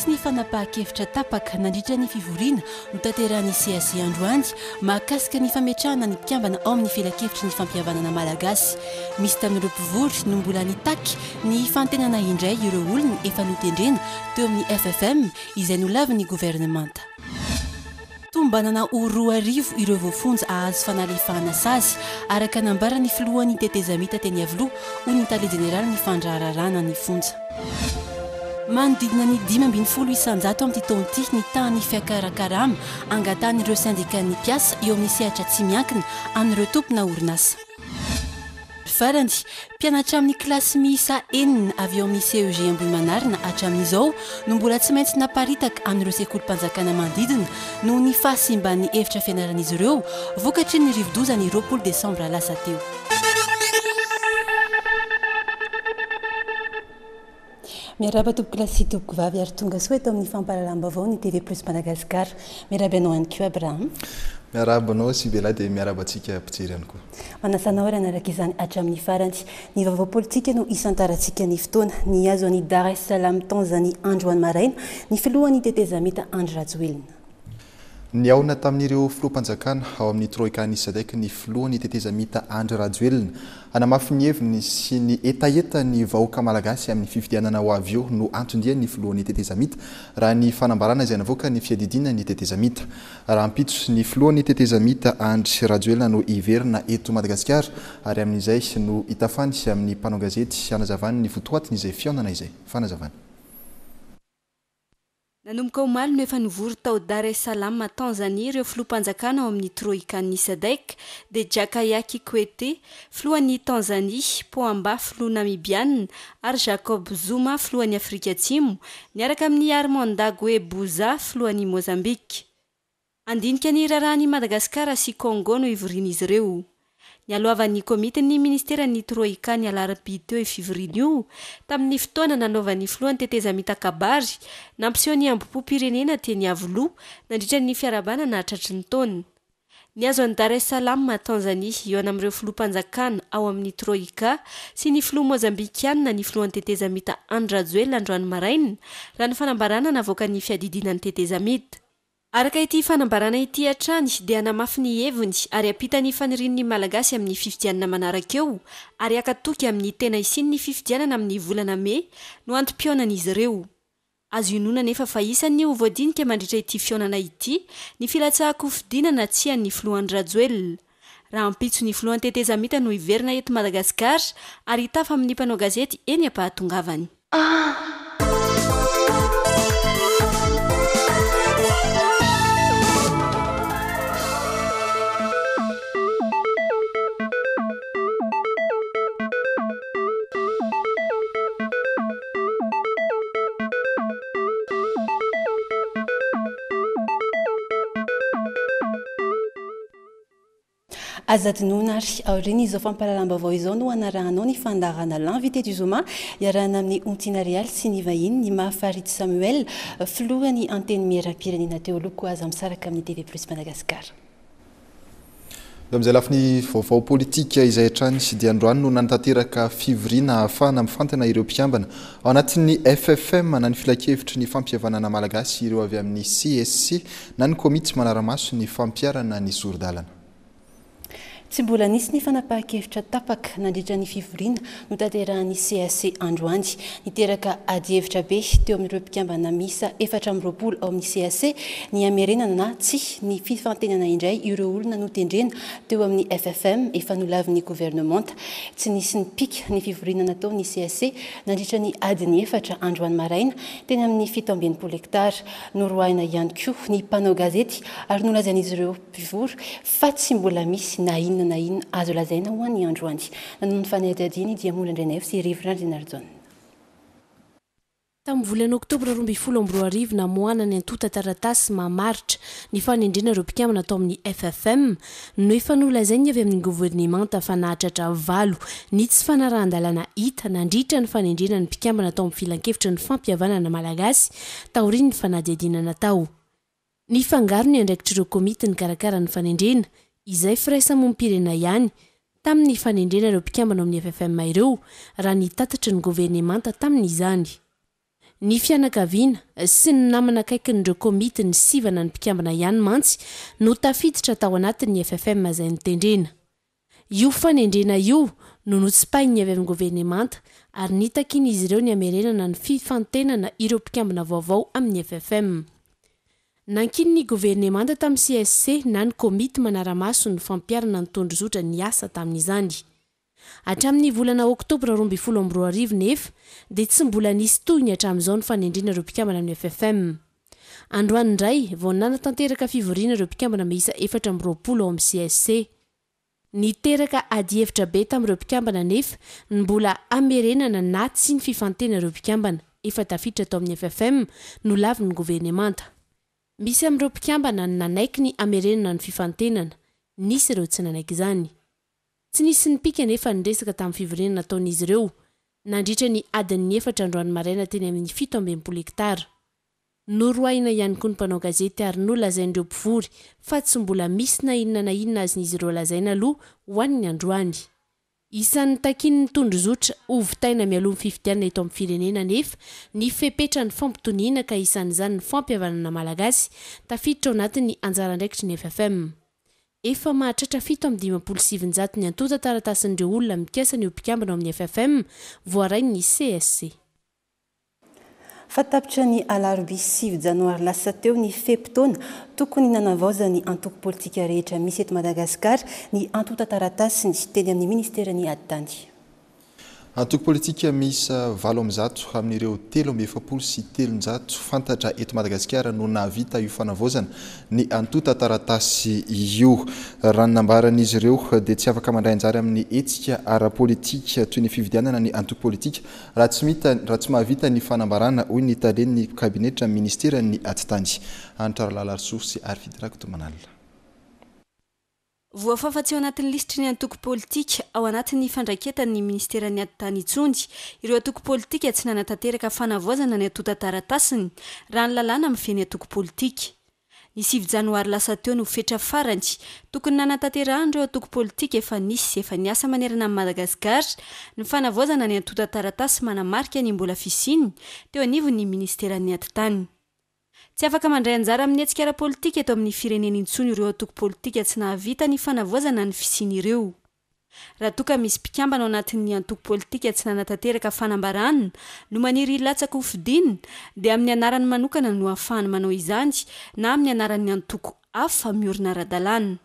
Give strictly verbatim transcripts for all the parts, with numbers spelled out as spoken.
Nisy ny fanapahan-kevitra tapaka nandritra ny fivoriana notanterahin'ny C A C androany mahakasika ny fametrahana ny mpikambana ao amin'ny filankevitry ny fampihavanana malagasy. Misy tamin'ireo mpivory no mbola nitaky ny fantenana indray ireo olona efa notendrena teo amin'ny F F M izay nolavin'ny governemanta. Tombanana ho roa arivo ireo voafonja ahazo fanalefahana sazy araka nambaran'ny filohan'ny tetezamita teny Iavoloha, hoy ny tale jeneraly ny fandraharahana ny fonja. Manodidina ny dimy ambin'ny folo isanjato amin'ity taona ity ny tahan'ny fiakaran-karama angatahan'ireo syndikan'ny mpiasa eo amin'ny sehatra tsy miankina amin'ireo tompona orinasa. Farany, mpianatra amin'ny kilasy miisa enina avy eo amin'ny C E G Ambohimanarina hatramin'izao no mbola tsy maintsy naparitaka amin'ireo sekolim-panjakana manodidina noho ny fahasimban'ny efitra fianaran'izy ireo vokatry ny rivodoza ny roapolo desambra lasa teo. Miarahaba tompokolahy sy tompokovavy ary tonga soa eto amin'ny fampahalalam-baovao ny T V Plus Madagascar. Miarahaba anao ihany koa, Abraham. Miarahaba anao Sibela, dia miarahaba antsika mpijery ihany koa. Manasa anao ary hanaraka izany hatramin'ny farany. Ny vaovao politika no isantarantsika ny fotoana. Nihazo an'i Dar es Salaam, Tanzanie, androany maraina ny filohan'ny tetezamita Andry Rajoelina. Nihaona tamin'ireo filoham-panjakana ao amin'ny troika ny SADC ny filohan'ny tetezamita Andry Rajoelina. Hanamafy ny heviny sy ny hetaheta ny vahoaka malagasy amin'ny fifidianana ho avy eo no anton-dia ny filohan'ny tetezamita, raha ny fanambarana izay navoaka ny fiadidiana ny tetezamita. Rahampitso ny filohan'ny tetezamita Andry Rajoelina no hiverina eto Madagasikara ary amin'izay no hitafany amin'ny mpanao gazety hanazavany ny votoatiny izay fihaonana izay. Fanazavana. Nanomboka omaly no efa nivory tao Dar es Salaam, Tanzania, ireo filoham-panjakana ao amin'ny troikan'ny SADC, dia Jakaya Kikwete, filohan'ny Tanzania, Pohamba, filoha namibiana, ary Jacob Zuma, filohan'ny Afrika Atsimo, niaraka amin'ny Armando Guebuza, filohan'ny Mozambique. Handinika ny raharahan'i Madagasikara sy Congo no ivorian'izy ireo. Nialohavan'ny komitin'ny ministeran'ny troika ny alarobia teo io fivoriana io, tamin'ny fotoana nanaovan'ny filohan'ny tetezamita kabary nampiseho ny hambom-pirenena teny Iavoloha nandritra ny fiarahabana nahatratry ny taona. Nihazo an'i Dar es Salaam, Tanzania, hihaona amin'ireo filoham-panjakana ao amin'ny troika sy ny filoha mozambikiana ny filohan'ny tetezamita Andry Rajoelina androany maraina, raha ny fanambarana navoakan'ny fiadidiana ny tetezamita. Araka ity fanambarana ity hatrany dia hanamafy ny heviny ary hampita ny fanirian'ny malagasy amin'ny fifidianana manaraka eo ary haka toky amin'ny tena hisian'ny fifidianana amin'ny volana mey no antom-pihaonan'izy ireo. Azo inoana nefa fa isan'ny ho voadinika mandritra ity fihaonana ity ny filatsahan-kofidina na tsia ny filoha Andry Rajoelina. Rahampitso ny filohan'ny tetezamita no hiverina eto Madagasikara ary hitafa amin'ny mpanao gazety eny am-pahatongavany. Aza adinoina ary aorian'izao fampahalalam-baovao izao no hanarahanao ny fandaharana L'invité du zoma iarahana amin'ny Ontina Real sy ny vahiny ny Mahafaritsy Samuel, filohan'ny antenimieram-pirenena teo aloha. Koa aza misaraka amin'ny T V Plus Madagascar. Amin'izay lafiny vaovao politika izay hatrany sy dia androany no nanatanteraka fivoriana ahafahana mifantina ireo mpikambana ao anatin'ny F F M na ny filankevitry ny fampihavanana malagasy, ireo avy amin'ny C S C na ny komity manara-maso ny fampiharana ny sori-dalana. Tsy mbola nisy ny fanapahan-kevitra tapaka nandritra ny fivoriana notanterahan'ny C A C androany. Niteraka adihevitra be teo amin'ireo mpikambana miisa efatra amby roapolo ao amin'ny C A C ny hamerenana na tsia ny fifantenana indray ireo olona notendrena teo amin'ny F F M efa nolavin'ny governemanta. Tsy nisy ny pika ny fivoriana natao ny C A C nandritra ny adiny efatra androany maraina teny amin'ny fito amby enimpolo hektara. Noroahina ihany koa ny mpanao gazety ary nolazain'izy ireo mpivory fa tsy mbola misy na inona na inona azo lazaina ho an'ny androany. Nanao ny fanadihadiana dia Mbola Andrenaivo sy Rivo Randrianarijaona. Tamin'ny volana oktobra roa ambin'ny folo amby roa arivo namoahana ny antontan-taratasy mamaritra ny fanendrena ireo mpikambana tao amin'ny F F M no efa nolazainy avy amin'ny governemanta fa nahatratra valo ny tsy fanarahan-dalàna hita nandritra ny fanendrena ny mpikambana tao amin'ny filankevitra ny fampihavanana malagasy taorian'ny fanadihadiana natao. Nifangaro ny andraikitr'ireo komity nikarakara ny fanendrena izay firaisamonim-pirenena ihany tamin'ny fanendrena ireo mpikambana ao amin'ny F F M ireo, raha ny tatitry ny governemanta tamin'izany. Ny fianakaviana sy ny namana akaikin'ireo komity ny sivana ny mpikambana ihany mantsy no tafiditra tao anatin'ny F F M izay notendrena. Io fanendrena io no notsipahin'ny avy amin'ny governemanta ary nitakian'izy ireo ny hamerenana ny fifantenana ireo mpikambana vaovao amin'ny F F M. Nankinin'ny governemanta tamin'ny C S C na ny komity manara-maso ny fampiharana ny tondrozotra ny asa tamin'izany. Hatramin'ny volana oktobra roa amby folo amby roa arivo nefa dia tsy mbola nisy toy ny hatramin'izao ny fanendrena ireo mpikambana amin'ny F F M. Androany indray vao nanatanteraka fivoriana ireo mpikambana miisa efatra amby roapolo ao amin'ny C S C. Niteraka adihevitra be tamin'ireo mpikambana nefa ny mbola hamerenana na tsy ny fifantena ireo mpikambana efa tafiditra tao amin'ny F F M no lavin'ny governemanta. Misy amin'ireo mpikambana ny nanaiky ny hamerenana ny fifantenana, nisy ireo tsy nanaiky izany. Tsy nisy nipika nefa niresaka tamin'ny fivoriana nataon'izy ireo nandritra ny adin'ny efatra androany maraina teny amin'ny fito amby enimpolo hektara. Noroahina ihany koa ny mpanao gazety ary nolazain'ireo mpivory fa tsy mbola misy na inona na inona azon'izy ireo lazaina aloha ho an'ny androany. Isan'ny takian'ny tondrozotra hovitaina mialoha ny fifidianana eto amin'ny firenena nefa ny fepetra ny fampitoniana, ka isan'izany ny fampihavanana malagasy tafiditra ao anatin'ny anjara andraikitry ny F F M. Efa mahatratra fito amby dimampolo sivinjato ny antontan-taratasin'ireo olona mikasa ny ho mpikambana ao amin'ny F F M voarain'ny C S C. Fa tapitra ny alarobia sivy janoary lasa teo ny fe-potoana tokony nanavaozan'ny antoko politika rehetra misy eto Madagasikara ny antontan-taratasiny teny amin'ny ministeran'ny atitany. Antoko politika miisa valo amby zato amin'ireo telo amby efapolo sy telonjato fantatra eto Madagasikara no nahavita io fanavaozana ny antontan-taratasy io. Raha ny nambaran'izy ireo dia tsy afaka mandray anjara amin'ny hetsika ara-politika toy ny fifidianana ny antoko politika raha tsy mita raha tsy mahavita ny fanambarana, hoy ny talen'ny kabinetra ministeran'ny atitany, Hanitra Ralalarisoa sy Arfidy Rakotomanalina. Voafafa tsy ao anatin'ny lisitry ny antoko politika ao anatin'ny fandraiketan'ny ministeran'ny atitany intsony ireo antoko politika tsy nanatanteraka fanavaozana ny antontan-taratasiny raha ny lalàna mifehy ny antoko politika. Ny sivy janoary lasa teo no fetra farany tokony nanatanterahana ireo antoko politika efa nisy efa niasa manerana amin'ny Madagasikara ny fanavaozana ny antontan-taratasy manamarika ny mbola fisiany teo anivon'ny ministeran'ny atitany. Tsy afaka mandray anjara amin'ny hetsika ara-politika eto amin'ny firenena intsony ireo antoko politika tsy nahavita ny fanavaozana ny fisiany ireo. Raha toa ka misy mpikambana ao anatin'ny antoko politika tsy nanatanteraka fanambarana no maniry hilatsaka ho fidiana, dia amin'ny anarany manokana no ahafahany manao izany na amin'ny anaran'ny antoko hafa miorina ara-dalàna.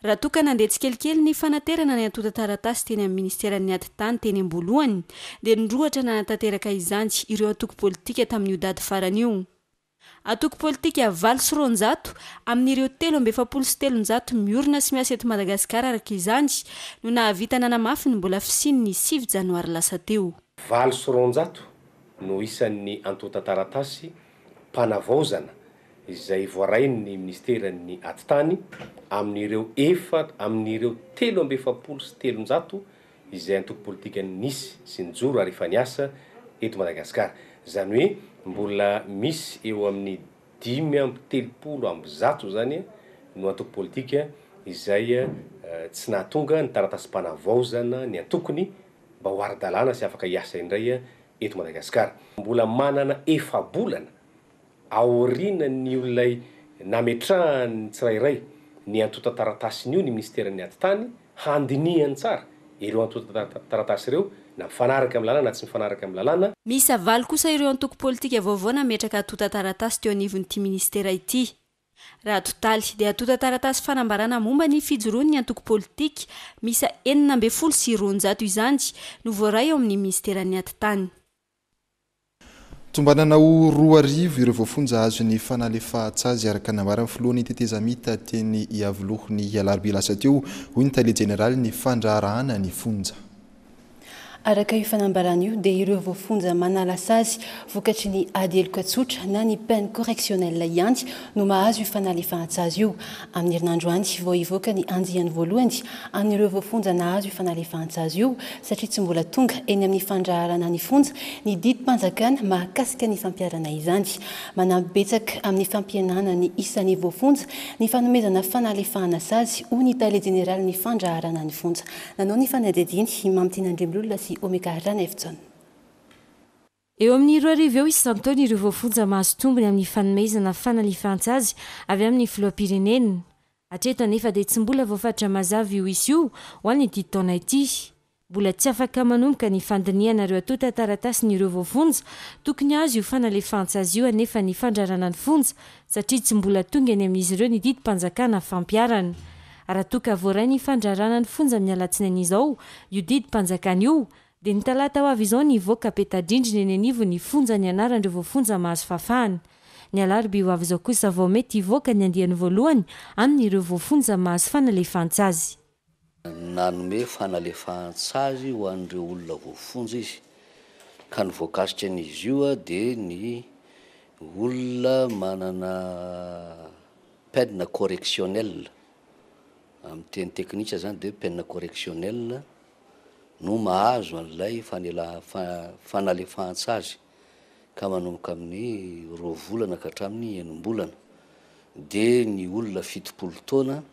Raha toa ka nandeha tsikelikely ny fanaterana ny antontan-taratasy teny amin'ny ministeran'ny atitany teny am-boalohany, dia nirohotra nanatanteraka izany ireo antoko politika tamin'io daty farany io. Antoko politika valo sy roanjato amin'ireo telo amby efapolo sy telonjato miorina sy miasa eto Madagasikara araka izany no nahavita nanamafy ny mbola fisiany ny sivy janoary lasa teo. Valo sy roanjato no isan'ny antontan-taratasy mpanavaozana izay voarain'ny ministeran'ny atitany amin'ireo efa amin'ireo telo amby efapolo sy telonjato izay antoko politika nisy sy nijoro ary efa niasa eto Madagasikara. Zany hoe mbola misy eo amin'ny dimy amby telopolo amby zato zany no antoko politika izay tsy nahatonga ny taratasy-panavaozana ny antokony mba ho ara-dalàna sy afaka hiasa indray eto Madagasikara. Mbola manana efa-bolana aorian'ny olay nametrahany tsirairay ny antontan-taratasiny io ny ministeran'ny atitany handinihany tsara ireo antontan-taratasy ireo, na mifanaraka amin'ny lalàna na tsy mifanaraka amin'ny lalàna. Miisa valo kosa ireo antoko politika vaovao nametraka antontan-taratasy teo anivon'ity ministera ity. Raha totaly dia antontan-taratasy fanambarana momba ny fijoroan'ny antoko politika miisa enina amby folo sy roanjato izany no voaray eo amin'ny ministeran'ny atitany. Tombanana ho roa arivo ireo voafonja azo ny fanalefahan-tsazy araka nambaran'ny filohan'ny tetezamita teny Iavoloha ny alarobia lasa teo, hoy ny tale jeneraly ny fandraharahana ny fonja. Araka io fanambarana io dia ireo voafonja manala sazy vokatry ny ady heloka tsotra na ny peine correctionnelle ihany no mahazo io fanalefahan-tsazy io. Amin'ny herinandro any vao hivoaka ny andiany voalohany amin'ireo voafonja nahazo io fanalefahan-tsazy io, satria tsy mbola tonga eny amin'ny fandraharahana ny fonja ny didim-panjakana mahakasika ny fampiharana izany. Manampy betsaka amin'ny fampihenana ny isan'ny voafonja ny fanomezana fanalefahana sazy, hoy ny tale jeneraly ny fandraharahana ny fonja. Nanao ny fanadihadiana Mamitiana Andriamilolona sy Omega Ranefjon. Eo amin'ny roa arivo eo isan-taona ireo voafonja mahazo tombony amin'ny fanomezana fanalefahan-tsazy avy amin'ny filoham-pirenena. Hatreto anefa dia tsy mbola voafaritra mazava io isa io ho an'ity taona ity. Mbola tsy afaka manomboka ny fandinihana ireo antontan-taratasin'ireo voafonja tokony hahazo io fanalefahan-tsazy io anefa ny fandrarana ny fonja satria tsy mbola tonga eny amin'izy ireo ny didim-panjakana fampiharana. Raha toa ka voaray ny fandrarana ny fonja amin'ny alatsinainy izao io didim-panjakana io dia ny talata ho avy izao ny hivoaka peta-drindrina eny anivon'ny fonja ny anaran'ireo voafonja mahazo fahafahana. Ny alarobia ho avy izao kosa vao mety hivoaka ny andiany voalohany amin'ireo voafonja mahazo fanalefahan-tsazy. Nanome fanalefahan-tsazy ho an'ireo olona voafonja izy ka ny voakasika an'izy io dia ny olona manana peine correctionnelle, amin'ny teny teknika zany dia peine correctionnelle no mahazo an'ilay fanela- fa- fanalefahan-tsazy ka manomboka amin'ny roa volana ka hatramin'ny enim-bolana. Dia ny olona fitopolo taona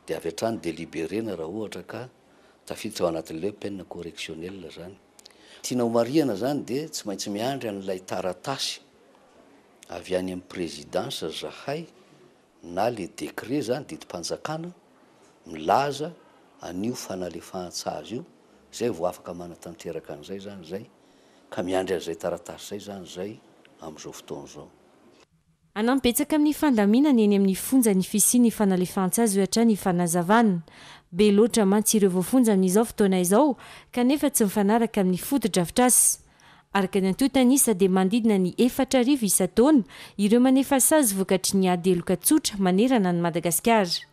dia avy hatrany dia libérena raha ohatra ka tafiditra ao anatin'ilay peine correctionnelle zany. Tiana ho marihana zany dia tsy maintsy miandry an'ilay taratasy avy any amin'ny présidence zahay na le décret zany didim-panjakana milaza an'io fanalefahan-tsazy io, zay vao afaka manatanteraka an'izay zany zay ka miandry an'izay taratasy zay zany zay amin'izao fotoana izao. Hanampy betsaka amin'ny fandaminana eny amin'ny fonja ny fisian'ny fanalefahan-tsazy hoy hatrany fanazavana. Be loatra mantsy ireo voafonja amin'izao fotoana izao kanefa tsy mifanaraka amin'ny fotodrafitrasa. Araka ny antontan'isa dia manodidina ny efatra arivo isan-taona ireo manefa sazy vokatry ny ady heloka tsotra manerana an'i Madagasikara.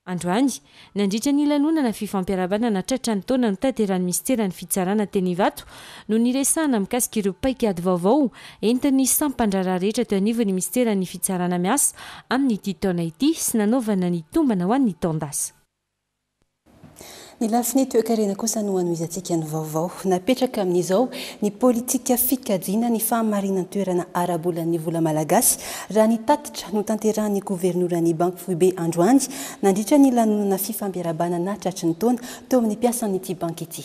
Androany, nandritra ny lanonana fifampiarahabana tratra ny taona notanterahin'ny minisiteran'ny fitsarana teny Ivato no niresahana mikasika ireo paikady vaovao entin'ny sampan-draharaha rehetra teo anivon'ny minisiteran'ny fitsarana miasa amin'ity taona ity sy nanaovana ny tombana ho an'ny taon-dasa. Ny lafiny toekarena kosa no anohizantsika ny vaovao. Napetraka amin'izao ny politika fikajiana ny fahamarinan-toerana ara-bolan'ny vola malagasy raha ny tatitra notanterahan'ny governoran'ny Banky Foibe androany nandritra ny lanonana fifampiarahabana tratry ny taona teo amin'ny mpiasan'ity banky ity.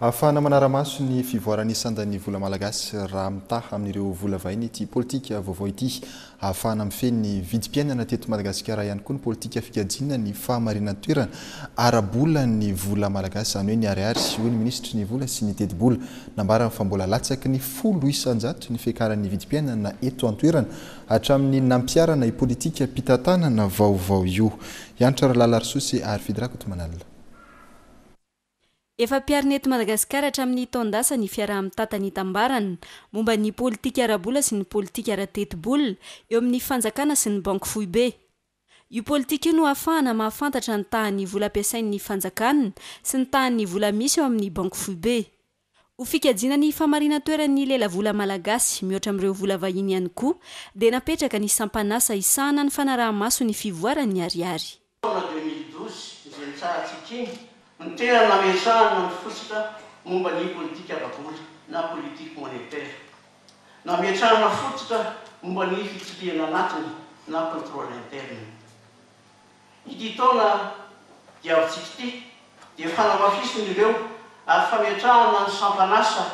Ahafahana manara-maso ny fivoaran'ny sandan'ny vola malagasy raha mitaha amin'ireo vola vahiny ity politika vaovao ity. Ahafahana mifehy ny vidim-piainana teto Madagasikara ihany koa ny politika fikajiana ny fahamarinan-toerana ara-bolan'ny vola malagasy, izany hoe ny ariary, hoy ny minisitry ny vola sy ny tetibola. Nambarany fa mbola latsaky ny folo isan-jato ny fiakaran'ny vidim-piainana eto an-toerana hatramin'ny nampiharana io politika fitantanana vaovao io. Hiantra Ralalarisoa sy ary Fidrakotomanalina. Efa ampiharina eto Madagasikara hatramin'ny taon-dasa ny fiaraha-mitantana itambarana momba ny politika ara-bola sy ny politika ara-tetibola eo amin'ny fanjakana sy ny banky foibe. Io politika io no ahafahana mahafantatra ny tahan'ny vola ampiasain'ny fanjakana sy ny tahan'ny vola misy eo amin'ny banky foibe. Ho fikajiana ny fahamarinan-toeran'ny lelavola malagasy mihoatra amin'ireo vola vahiny ihany koa dia napetraka ny sampanasa hisahana ny fanaraha-maso ny fivoaran'ny ariary. Taona deux mille douze izay nitsahantsika iny ny tena nametrahana ny fototra momba ny politika ara-bola na politique monétaire. Nametrahana fototra momba ny fitsirihana anatiny na contrôle interne. Ity taona diavintsika ity dia fanamafisina ireo ary fametrahana ny sampanasa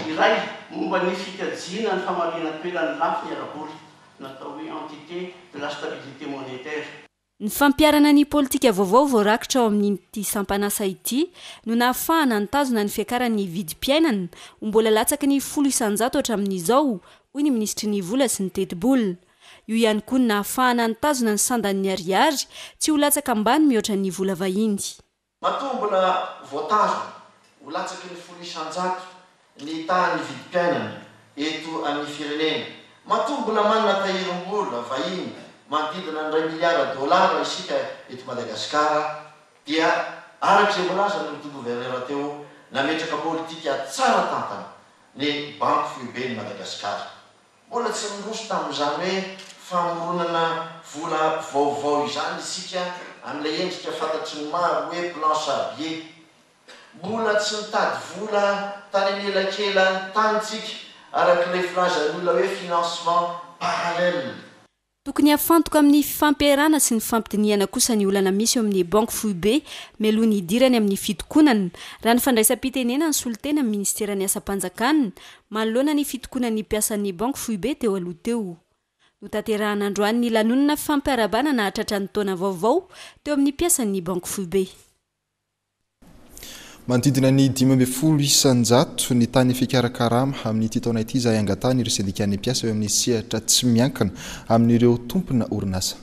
iray momba ny fikajiana ny fahamarinan-toeran'ny lafiny ara-bola natao hoe entité de la stabilité monétaire. Ny fampiharana ny politika vaovao voarakitra ao amin'ity sampanasa ity no nahafahana nitazona ny fiakaran'ny vidim-piainana ho mbola latsaky ny folo isan-jato hatramin'izao, hoy ny minisitry ny vola sy ny tetibola. Io ihany koa no nahafahana nitazona ny sandan'ny ariary tsy ho latsaka ambany mihoatra ny vola vahiny. Matoa mbola voatazona ho latsaky ny folo isan-jato ny tahan'ny vidim-piainana eto amin'ny firenena. Matoa mbola manana tahirim-bola vahiny manodidina ny iray miliara dolara isika eto Madagasikara dia araka izay voalaza ny gouverneur teo nametraka politika tsara tantana ny banky foiben'i Madagasikara. Mbola tsy niroso tamin'izany hoe famoronana vola vaovao izany isika amin'ilay endrika fantatry ny maro hoe planche à billets. Mbola tsy nitady vola tany anelakelan'ny tany tsika araka ilay filazan'ny olona hoe financement parallèle. Tokony hafantoka amin'ny fifampiarahana sy ny fifampidinihana kosa ny olana misy eo amin'ny banky foibe mialoha ny hidirany amin'ny fitokonana, raha ny fandraisam-pitenenana ny solontena amin'ny ministeran'ny asam-panjakana manoloana ny fitokonan'ny mpiasan'ny banky foibe teo aloha teo. Notanterahana androany ny lanonana fampiarahabana nahatratra ny taona vaovao teo amin'ny mpiasan'ny banky foibe. Manodidina ny dimy ambin'ny folo isan-jato ny tany fikarakarama amin'ity taona ity izay angatahany ireo sendikan'ny mpiasa eo amin'ny sehatra tsy miankina amin'ireo tompona orinasa.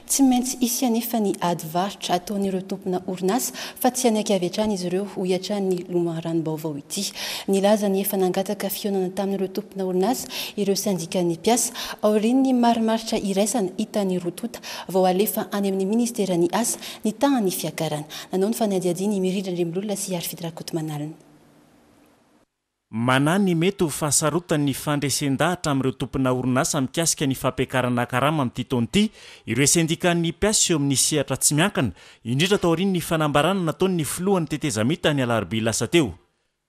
Tsy maintsy hisy anefa ny ady varotra ataon'ireo tompona orinasa fa tsy hanaiky avy hatrany izy ireo, hoy hatrany ny loharanom-baovao ity. Nilaza ny efa nangataka fihaonana tamin'ireo tompona orinasa ireo sendikan'ny mpiasa aorian'ny marimaritra iraisana hitan'ny roa tonta vao alefa any amin'ny ministeran'ny asa ny tahan'ny fiakarana. Nanao ny fanadihadiana i Mirindra Andriambololona sy Arfidy Rakotomanalina. Manahy ny mety ho fahasarotan'ny fandresen-dahatra amin'ireo tompona orinasa mikasika ny fampiakarana karama amin'ity taona ity ireo sendikan'ny mpiasa eo amin'ny sehatra tsy miankina, indrindra taorian'ny fanambarana nataon'ny filohan'ny tetezamita ny alarobia lasa teo.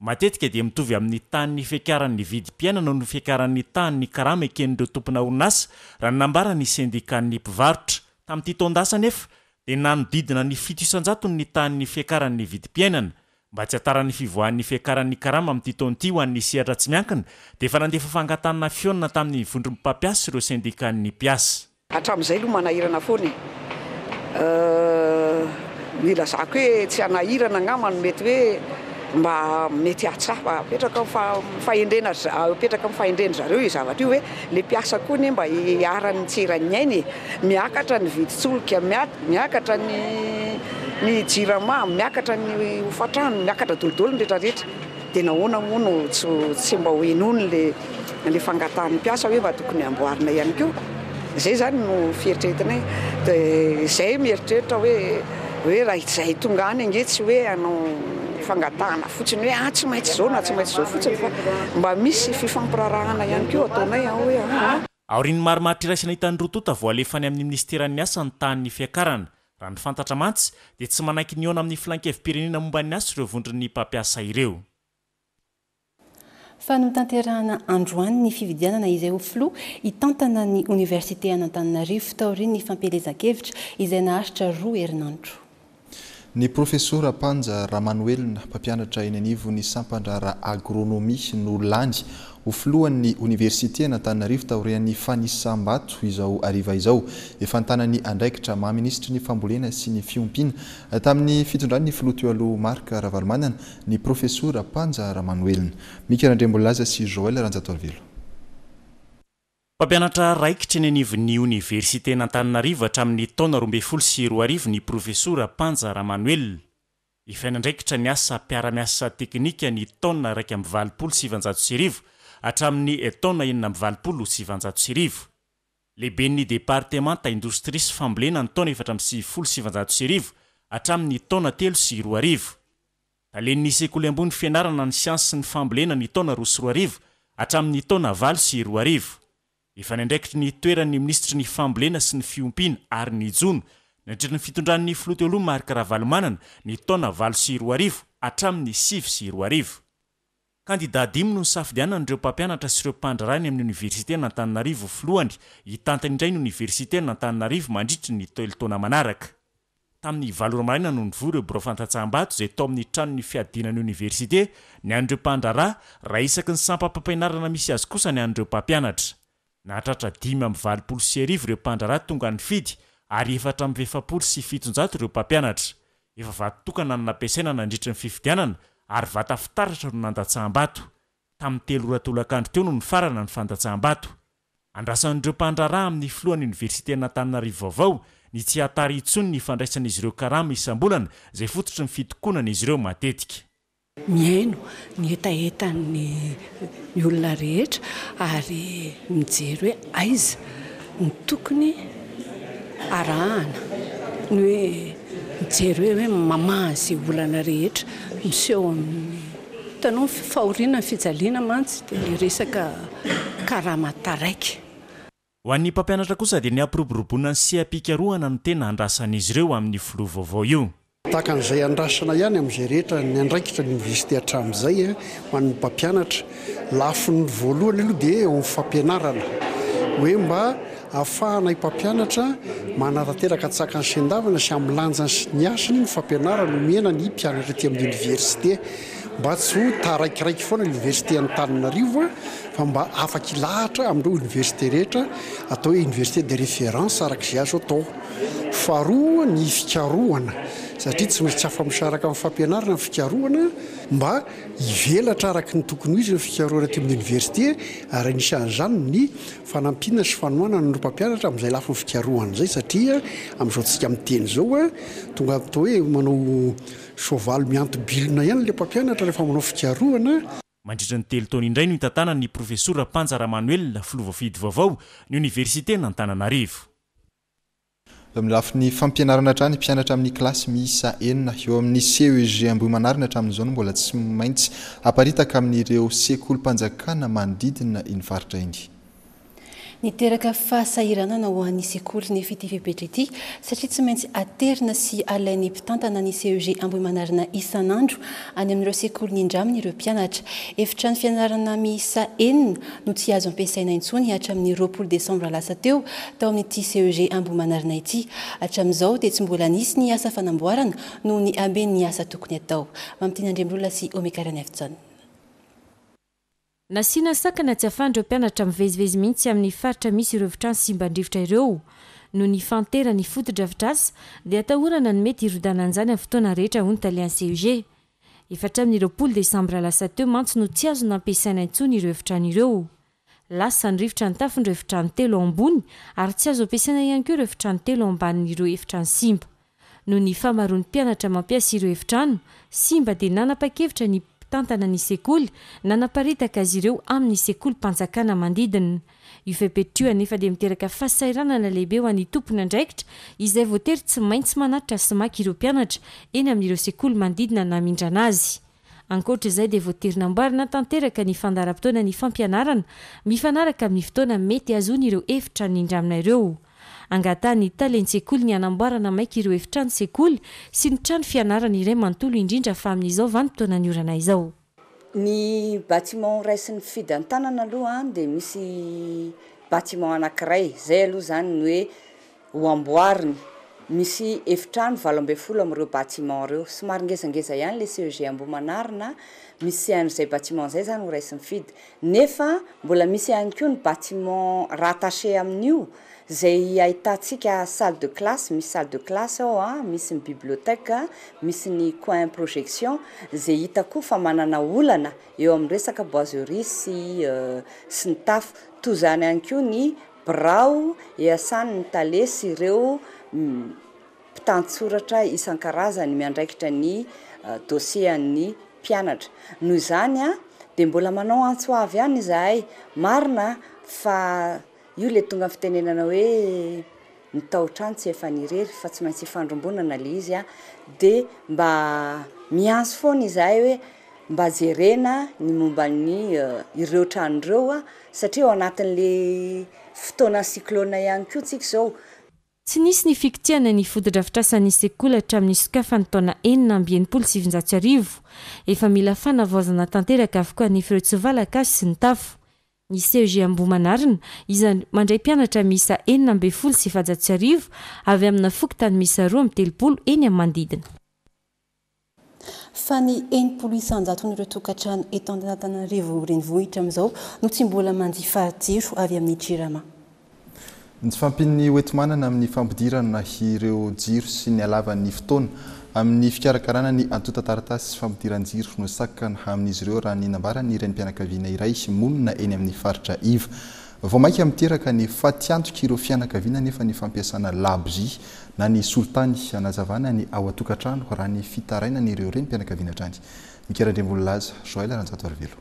Matetika dia mitovy amin'ny tahan'ny fiakaran'ny vidim-piainana no fiakaran'ny tahan'ny karama eken'ireo tompona orinasa raha ny nambaran'ny sendikan'ny mpivarotra. Tamin'ity taon-dasa nefa dia nanodidina ny fito isan-jatony ny tahan'ny fiakaran'ny vidim-piainana. Mba tsy hataran'ny fivoahan'ny fiakaran'ny karama amin'ity taona ity ho an'ny sehatra tsy miankina dia efa nandefa fangatahana fihaonana tamin'ny vondron'ny mpampiasa ireo sendikan'ny mpiasa. Hatramin'izay aloha manahirana foana e. Nilazako hoe tsy hanahirana angamba no mety hoe mba mety hahatsapa apetraka amin'ny fahendrena apetraka amin'ny fahendrena zareo io zavatra io hoe le mpiasa koa anie mba hiharan'ny tsy eran'ny ainy e. Miakatra ny vidin-tsolika, miakatra ny ny jirama, miakatra ny hofantrano, miakatra daholo ny rehetrarehetra. Dia nahoana moa no tsy tsy mba ho henoiny le le fangatahan'ny mpiasa hoe mba tokony amboarina ihany koa. Izay zany no fieritreretinay. Dia izay mieritreritra hoe hoe raha izay tonga any ange tsy hoe hanao fangatahana fotsiny hoe ah tsy maintsy izao na tsy maintsy izao fotsiny fa mba misy fifampirarahana ihany koa ataonay ao hoe ah. Aorian'ny marimaritra iraisana hitan'ny roa tonta vao alefa any amin'ny ministeran'ny asa ny tahan'ny fiakarana. Raha ny fantatra mantsy dia tsy manaiky nihaona amin'ny filan-kevi-pirenena momba ny asa ireo vondron'ny mpampiasa ireo. Fa notanterahana androany ny fifidianana izay ho filoha hitantana ny oniversite an'Antananarivo taorian'ny fampielezan-kevitra izay naharitra roa herinandro. Ny profesora Panja Ramanoelina, mpampianatra eny anivon'ny sampan-draharaha agronomia no lany ho filohan'ny oniversite an'Antananarivo taorian'ny fanisam-bato izao hariva izao. Efa nitana ny andraikitra maha minisitry ny fambolena sy ny fiompiana tamin'ny fitondran'ny filoha teo aloha Marc Ravalomanana ny profesora Panja Ramanoelina. Mika Randriambolaza sy Joël Ranjatoarivelo. Mpampianatra raikitra eny anivon'ny oniversite an'Antananarivo hatramin'ny taona roa ambin'ny folo sy roa arivo ny profesora Panja Ramanoelina. Efa nandraikitra ny asa mpiara-miasa teknika ny taona iraika amby valopolo sy sivanjato sy arivo hatramin'ny taona enina amby valopolo sy sivanjato sy arivo. Lehiben'ny departemanta indostria sy fambolena ny taona efatra amby sivifolo sy sivanjato sy arivo hatramin'ny taona telo sy roa arivo. Talen'ny sekoly ambony fianarana ny siansa sy ny fambolena ny taona roa sy roa arivo hatramin'ny taona valo sy roa arivo. Efa nandraikitra ny toeran'ny minisitry ny fambolena sy ny fiompiana ary ny jono nandritra ny fitondran'ny filoha teo aloha Marc Ravalomanana ny taona valo sy roa arivo hatramin'ny sivy sy roa arivo. Kandida dimy no nisafidianan'ireo mpampianatra sy ireo mpandraharaha any amin'ny oniversite an'Antananarivo filohany hitantana indray ny oniversite an'Antananarivo mandritra ny telo taona manaraka. Tamin'ny valo ora maraina no nivory ireo birao fandatsaham-bato izay tao amin'ny tranon'ny fiadiana ny oniversite ny an'ireo mpandraharaha raha isaky ny sampam-pampianarana misy azy kosa ny an'ireo mpampianatra. Nahatratra dimy amby valopolo sy arivo ireo mpandraharaha tonga nifidy ary efatra amby efapolo sy fitonjato ireo mpampianatra. Efa vato tokana no nampiasaina nandritra ny fifidianana ary vata fitaratra no nandatsaham-bato. Tamin'ny telo ora tolakandro teo no nifarana ny fandatsaham-bato. Andrasan'ireo mpandraharaha amin'ny filohan'ny oniversite an'Antananarivo vaovao ny tsy hahatara intsony ny fandraisan'izy ireo karama isam-bolana izay fototry ny fitokonana izy ireo matetika. Mihaino ny hetahetan'ny ny olona rehetra ary mijery hoe aiza ny tokony arahana, ny hoe mijery hoe hoe mamaha izay olana rehetra miseho amin'ny hitanao ny fahoriana ny fijaliana mantsy dia ny resaka karama taraiky. Ho an'ny mpampianatra kosa dia ny hampiroboroboana ny seha-pikarohana no tena andrasan'izy ireo amin'ny filoha vaovao io. Tahaka an'izay andrasana ihany amin'izay rehetra ny andraikitra ny université hatramin'izay ho an'ny mpampianatra. Lafiny voalohany aloha dia eo amin'ny fampianarana hoe mba Ahafahana mpampianatra manatanteraka an-tsakany sy an-davana sy amin'ny lanjany sy ny hasiny ny fampianarana omena ny mpianatra aty amin'ny université, mba tsy ho taraikiraiky foana université Antananarivo, fa mba afaka ilahatra amin'ireo université rehetra, atao hoe université de référence araka izay azo atao. Faharoa, ny fikarohana, satria tsy maintsy tsy afa-misaraka amin'ny fampianarana ny fikarohana, mba hivelatra araka ny tokony ho izy ny fikarohana aty amin'ny université, ary anisan'izany ny fanampiana sy fanohanana ny mpampianatra amin'izay lafiny fikarohana izay, satria amin'izao tsika miteny izao a tonga atao hoe manao soavaly mianto-bilona ihany le mpampianatra rehefa manao fikarohana. Mandritra ny telo taona indray no hitantanany ny profesora Panja Ramanoelina, filoha voafidy vaovao ny oniversite Antananarivo. Amin'ny lafiny fampianarana hatrany, mpianatra amin'ny kilasy miisa enina eo amin'ny C E G Ambohimanarina hatramin'izao no mbola tsy maintsy aparitaka amin'ireo sekolim-panjakana manodidina iny faritra iny. Niteraka fahasahiranana ho an'ny sekoly nefa ity fepetra ity, satria tsy maintsy aterina sy alain'ny mpitantana ny C E G Ambohimanarina isan'andro any amin'ireo sekoly nindraminy ireo mpianatra. Efitrano fianarana miisa enina no tsy azo ampiasaina intsony hatramin'ny roapolo desambra lasa teo tao amin'ity C E G Ambohimanarina ity. Hatramin'izao dia tsy mbola nisy ny asa fanamboarana noho ny amben'ny asa tokony atao. Mamitiana Andriambolona sy Omekarany Avitson. Nasiana sakana tsy ahafahan'ireo mpianatra mivezivezy mihitsy amin'ny faritra misy ireo efitrano simban-drivotra ireo. Noho ny fahanteran'ny fotodrafitrasa dia atahorana ny mety hirodanan'izany amin'ny fotoana rehetra, hoy ny talen'ny C E G. Efa hatramin'ny roapolo desambra lasa teo mantsy no tsy azo nampiasaina intsony ireo efitrano ireo. Lasa ny rivotra ny tafon'ireo efitrano telo ambony, ary tsy azo ampiasaina ihany koa ireo efitrano telo ambanin'ireo efitrano simba. Noho ny famaroan'ny mpianatra mampiasa ireo efitrano simba dia nanapa-kevitra ny mpitantana ny sekoly nanaparitaka azy ireo amin'ny sekoly-mpanjakana manodidina. Io fepetra io anefa dia miteraka fahasahiranana lehibe ho an'ny tompon'andraikitra, izay voatery tsy maintsy manatitra sy maka ireo mpianatra eny amin'ireo sekoly manodidina namindrana azy. Ankoatra izay dia voatery namboarina tanteraka ny fandaharam-potoana ny fampianarana mifanaraka amin'ny fotoana mety azony ireo efitra nindramina ireo. Angatahan'ny talen-tsekoly ny hanamboarana maika ireo efitrano sekoly sy ny trano fianarana iray manontolo, indrindra fa amin'izao vanim-potoana ny orana izao. Ny bâtiment raisin'ny FID an-tanana aloha dia misy bâtiment anankiray zay aloha zany ny hoe ho amboariny. Misy efitrano valo ambe folo am'ireo bâtiment reo, somary ngezangeza ihany le C E G Ambohimanarina. Misy an'izay bâtiment zay zany ho raisin'ny FID, nefa mbola misy ihany koa ny bâtiment rattaché amin'io zay ahitantsika salle de classe. Misy salle de classe ao a, misy ny bibliothèque, misy ny coin projection, zay hita koa fa manana olana eo amin'ny resaka boiserie sy sy ny tafo. Toy zany ihany koa ny birao iasany ny tale sy ireo mpitantsoratra isan-karazany miandraikitra ny dossier an'ny mpianatra. Noho izany a de mbola manao antso avy ihany izahay. Marina fa io le tonga fitenenana hoe ny taotrano tsy efa nirery, fa tsy maintsy ifandrombonana le izy a de mba miantso foana izahay hoe mba jerena ny momba ny ireo trano ireo a satria ao anatin'le fotoana cyclone ihany koa tsika zao. Tsy nisy ny fikitiana ny fotodrafitrasan'ny sekoly hatramin'ny sokafany taona enina amby enimpolo sivinjato sy arivo. Efa mila fanavaozana tanteraka avokoa ny ireo tsivalan-kazo sy ny tafo. Ny C E G Ambohimanarina izany mandray mpianatra miisa enina ambe folo sy efajato sy arivo avy amina fokontany miisa roa amby telopolo eny amin'ny manodidina. Fa ny enimpolo isanjaton'ireo tokantrano eto Antananarivo renivohitra amin'izao no tsy mbola manjifa jiro avy amin'ny Jirama. Ny tsy fahampian'ny hoenti-manana amin'ny fampidirana ireo jiro sy ny halavan'ny fotoana amin'ny fikarakarana ny antontan-taratasy sy fampidiran-jiro no sakana amin'izy ireo, raha ny nambaran'ny renim-pianakaviana iray monina eny amin'ny faritra iva. Vao mainka miteraka ny fatiantoka ireo fianakaviana nefa ny fampiasana labozia na ny solitany anazavana ny ao an-tokantrano, raha ny fitarainana ireo renim-pianakaviana hatrany. Mikerandrembololaza Joel Ranjato Arivelo.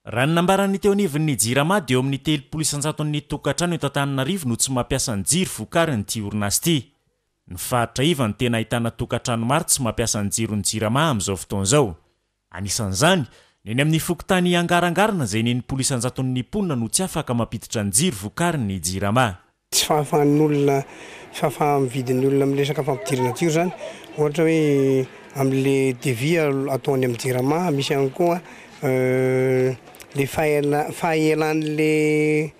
Raha ny nambaran'ny teo anivon'ny Jirama dia eo amin'ny telopolo isanjaton'ny tokantrano eto Antananarivo no tsy mampiasa ny jiro vokarin'ity orinasa ity. Ny faritra iva ny tena ahitana tokantrano maro tsy mampiasa ny jiro ny Jirama amin'izao fotoana izao. Anisan'izany ny eny amin'ny fokontany Angarangarana, izay ny enimpolo isanjaton'ny mponina no tsy afaka mampiditra ny jiro vokarin'ny Jirama. Tsy fahafahan'olona, fahafaha-mividin'ny olona amin'ny resaka fampidirana jiro zany, ohatra hoe amin'le devis ataony amin'ny Jirama. Misy ihany koa le fahaela fahaelan'le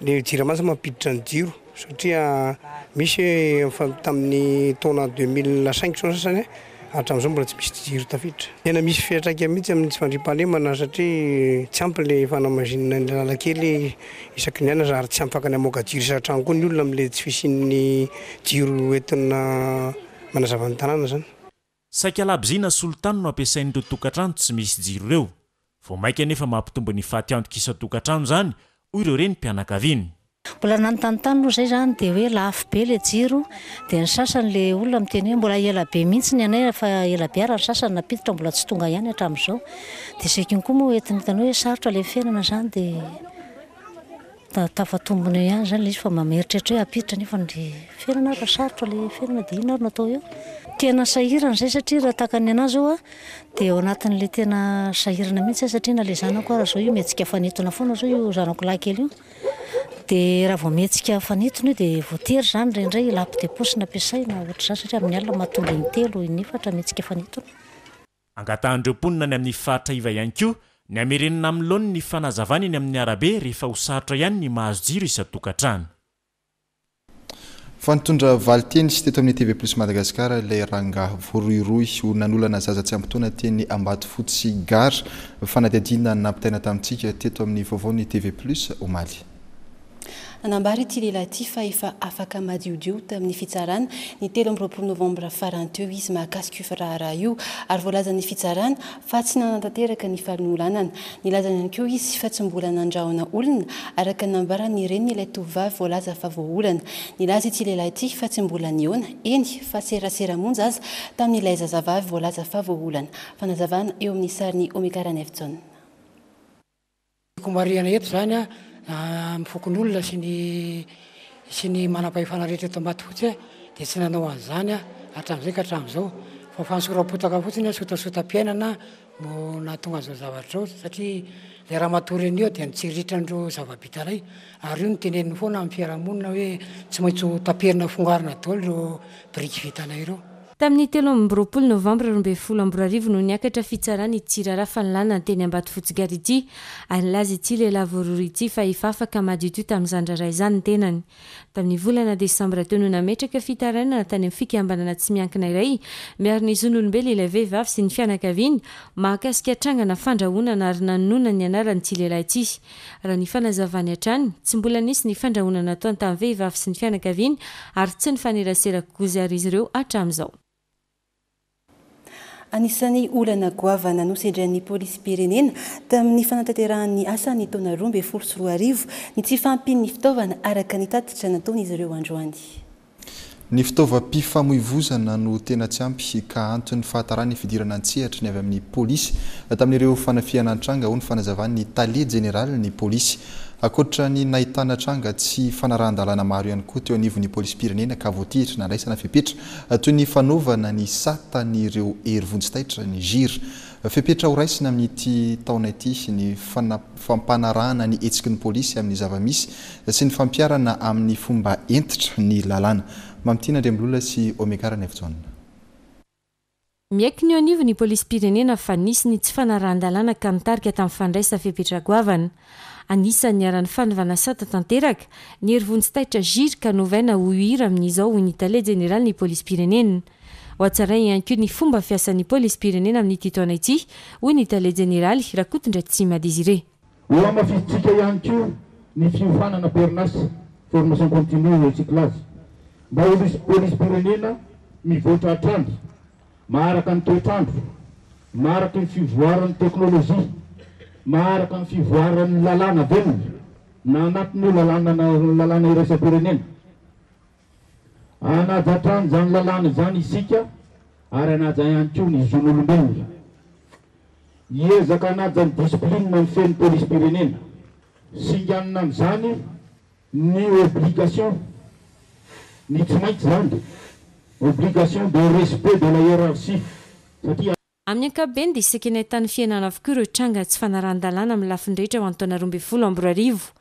Le Jirama zany mampiditra ny jiro satria misy efa tamin'ny taona deux mille cinq zao sasany hatramin'izao mbola tsy misy jiro tafiditra. Tena misy fiantraika mihitsy amin'ny tsy fandriampahalemana satria tsy ampy le fanamazinana ny lalan-kely isaky ny anatra ary tsy ampy ny hamoaka jiro isan-trano koa ny olona amin'le tsy fisian'ny jiro entina manazava ny tanàna zany. Saika labozia solitany no ampiasain'ireo tokantrano tsy misy jiro ireo. Vao mainka nefa mampitombo ny fatiantoka isan-tokantrano izany, hoy ireo renim-pianakaviana. Mbola nanontany aloha izay zany dia hoe lafo be le jiro, dia ny sasany le olona miteny hoe mbola ela be mihitsy ny anay fa ela be ary ny sasany nampiditra mbola tsy tonga ihany hatramin'izao. Dia izay koa moa entina hitany hoe sarotra le fiainana zany dia tafatombona eo ihany zany le izy fa mameritreritra hoe hampiditra nefa ny fiainana fa sarotra le fiainana dia inona ary no atao eo. Tena sahirana izay satria raha tahaka ny anahy zao a dia ao anatin'le tena sahirana mihitsy satria na le zanako ara zao io mihetsika fanintona foana zao io zanako lahy kely io. Dia raha vao mihetsika fanintona io dia voatery zany indraindray lampe de poche nampiasaina ohatr'izany satria amin'ny alina mahatonga intelo inefatra mihetsika fanintona. Angatahan'ireo mponina any amin'ny faritra iva ihany koa ny hamerenana amin'ny laoniny ny fanazavana eny amin'ny arabe rehefa ho sarotra ihany ny mahazo jiro isan-tokantrano. Fa nitondra valin-teny teto amin'ny T V Plus Madagascar ilay rangahy voarohirohy ho nanolana zaza tsy ampy taona teny Ambatofotsy Gara. Fanadihadiana nampitaina tamintsika teto amin'ny vaovaon'ny T V Plus omaly. Nanambara ity lehilahy ity fa efa afaka madiodio tamin'ny fitsarana ny telo amby roapolo novambra farany teo izy mahakasika io raharaha io ary voalazan'ny fitsarana fa tsy nanatanteraka ny fanolanana. Nilaza ihany koa izy fa tsy mbola nandrahona olona araka ny nambaran'ny reniny ilay tovovavy voalaza fa voaolana. Nilaza ity lehilahy ity fa tsy mbola nihaona eny fa serasera monja aza tamin'ilay zazavavy voalaza fa voaolana. Fanazavana eo amin'ny sarin'i Omega Ranefjaona. Tiako marihana eto zany a, amin'ny fokonolona sy ny sy ny manam-pahefana rehetra eto Ambatofotsy dia tsy nanao an'izany a hatramin'izay ka hatramin'izao fa fanosoram-potaka fotsiny a, sotasota-piainana no nahatonga an'izao zavatra izao satria ilay ramatoa reny io dia nitsiritra an'ireo zava-bita iray ary io no teneniny foana amin'ny fiarahamonina hoe tsy maintsy ho taperina fongarina daholo ireo biriky vitanay ireo. Tamin'ny telo amby roapolo novambra roa ambin'ny folo amby roa arivo no niakatra fitsarana ity raharaha fanolana teny Ambatofotsy Gara ity ary nilaza ity lehilahy voarohirohy ity fa efa afaka madiodio tamin'izany raharaha izany ny tenany. Tamin'ny volana desambra teo no nametraka fitarainana tany amin'ny fikambanana tsy miankina iray miaro ny zon'olombelona ilay vehivavy sy ny fianakaviany mahakasika trangana fandrahonana ary nanonona ny anaran'ity lehilahy ity. Raha ny fanazavany hatrany, tsy mbola nisy ny fandrahonana nataony tamin'ny vehivavy sy ny fianakaviany ary tsy nifanerasera kokoa ary izy ireo hatramin'izao. Anisan'ny olana goavana nosedrain'ny polisim-pirenena tamin'ny fanatanterahany asa ny taona roa ambin'ny folo sy roa arivo ny tsy fahampian'ny fitaovana araka ny tatitra nataon'izy ireo androany. Ny fitaovam-pifamoivozana no tena tsy ampy ka anton'ny fahatarany fidirana an-tsehatra ny avy amin'ny polisy tamin'ireo fanafihana nitranga, hoy ny fanazavan'ny tale jeneralin'ny polisy. Ankoatra ny nahitana tranga tsy fanarahan-dalàna maro ihany koa teo anivon'ny polisim-pirenena ka voatery nandraisana fepetra toy ny fanaovana ny satan'ireo hery vonjy taitra ny G I R. Fepetra horaisina amin'ity taona ity ny fana-, fampanarahana ny hetsiky ny polisy amin'ny zava-misy sy ny fampiharana amin'ny fomba hentitra ny lalàna. Mamitiana Andriambololona sy Omega Ranefjaona. Miaiky ny eo anivon'ny polisim-pirenena fa nisy ny tsy fanarahan-dalàna ka nitarika tamin'ny fandraisana fepetra goavana. Anisan'ny niharan'ny fanovana sata tanteraka ny hery vonjy taitra G I R ka novaina ho U I R amin'izao, hoy ny tale jeneralin'ny polisim-pirenena. Ho hatsaraina ihany koa ny fomba fiasan'ny polisim-pirenena amin'ity taona ity, hoy ny tale jeneraly Rakotondratsima Désiré. Ho hamafisintsika ihany koa ny fiofanana perinasa, formation continue recyclage, mba ho polisim-pirenena mivoatra hatrany, maharaka ny toetrandro, maharaka ny fivoaran'ny teknôlôjia, maharaka ny fivoaran'ny lalàna velona, na anatin'io lalàna na lalàna iraisam-pirenena. Hanaja hatrany izany lalàna izany isika ary hanaja ihany koa ny zon'olombelona. Hiezaka hanaja ny discipline mifehy ny polisim-pirenena. Singanina amin'izany ny obligation, ny tsy maintsy izany, obligation de respect de la hiérarchie. Satria Amin'ny ankapobeny dia saika nahitana fihenana avokoa ireo tranga tsy fanarahan-dalàna amin'ny lafiny rehetra ho an'ny taona roa ambin'ny folo amby roa arivo.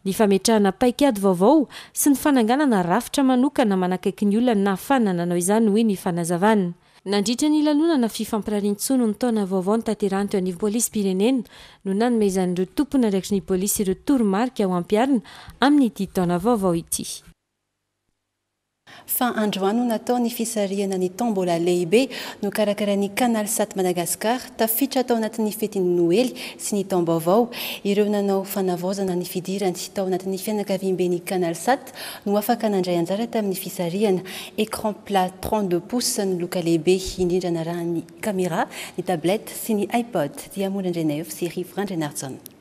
Ny fametrahana paikady vaovao sy ny fananganana rafitra manokana manakaiky ny olona nahafahana nanao izany, hoy ny fanazavana. Nandritra ny lanonana fifampirarian-tsoa ny taona vaovao notanterahina teo anivon'ny polisim-pirenena no nanomezan'ireo tompon'andraikitry ny polisy ireo toromarika ho ampiharina amin'ity taona vaovao ity. Fa androany no natao ny fisarihana ny tombola lehibe nokarakarain'ny Canal Sat Madagascar, tafiditra tao anatin'ny fetin'ny Noely sy ny taom-baovao. Ireo nanao fanavaozana ny fidirany tao anatin'ny fianakaviambe ny Canal Sat no afaka nandray anjara tamin'ny fisarihana. Écran plat trente-deux pouces ny loka lehibe indrindra narahan'ny caméra, ny tablette sy ny iPod. Dia Mora Andrianaivo sy Rivo Randrianarijaona.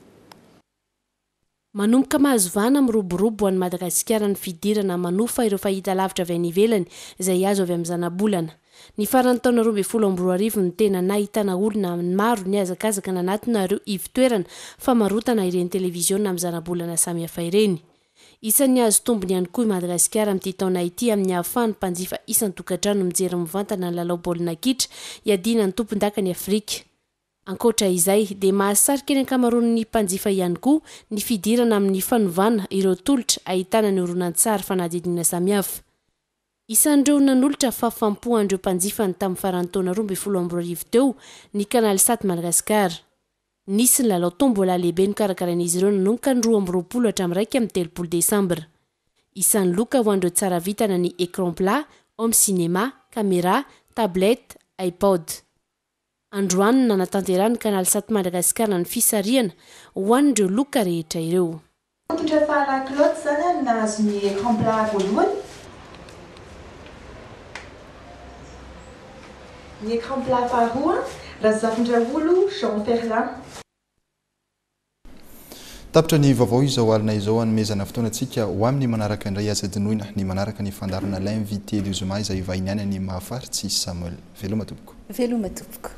Manomboka mahazo vahana miroborobo ho an'i Madagasikara ny fidirana manofa ireo fahitalavitra avy any ivelany izay azo avy amin'ny zanabolana. Ny faran'ny taona roa ambin'ny folo amby roa arivo no tena nahitana olona maro nihazakazaka nanatona ireo ivotoerana famarotana ireny televiziona amin'ny zanabolana samihafa ireny. Isan'ny azo tombony ihany koa i Madagasikara amin'ity taona ity amin'ny ahafahan'ny mpanjifa isan-tokantrano mijery mivantana ny lalao baolina kitra hiadiana ny tompon-dakan'i Afrika. Ankoatra izay dia mahasarika ny ankamaroan'ny mpanjifa ihany koa ny fidirana amin'ny fanovana ireo tolotra ahitana ny horonantsary fanadihadiana samihafa. Isan'ireo nanolotra fahafaham-po an'ireo mpanjifa ny tamin'ny faran'ny taona roa ambin'ny folo amby roa arivo teo ny Canal Sat Madagascar. Nisy ny lalao tombola lehibe nokarakarain'izy ireo nanomboka ny roa amby roapolo hatramin'ny iraika amby telopolo desambra. Isan'ny loka ho an'ireo tsara vitana ny écran plat, home cinéma, caméra, tablette, iPod. Androany no nanatanterahany Canal Sat Madagascar ny fisarihana ho an'ireo loka rehetra ireo. Fototra fahala Claude zany a nahazo ny écran plat voalohany. Ny écran plat faharoa, Razafindraolo Jean Ferlin. Tapitra ny vaovao izao alina izao, anomezana fotoanantsika ho amin'ny manaraka indray. Aza adinoina ny manaraka ny fandaharana L'invité du zoma izay vahiny any ny Mahafaritsy Samuel. Veloma tompoko. Veloma tompoko.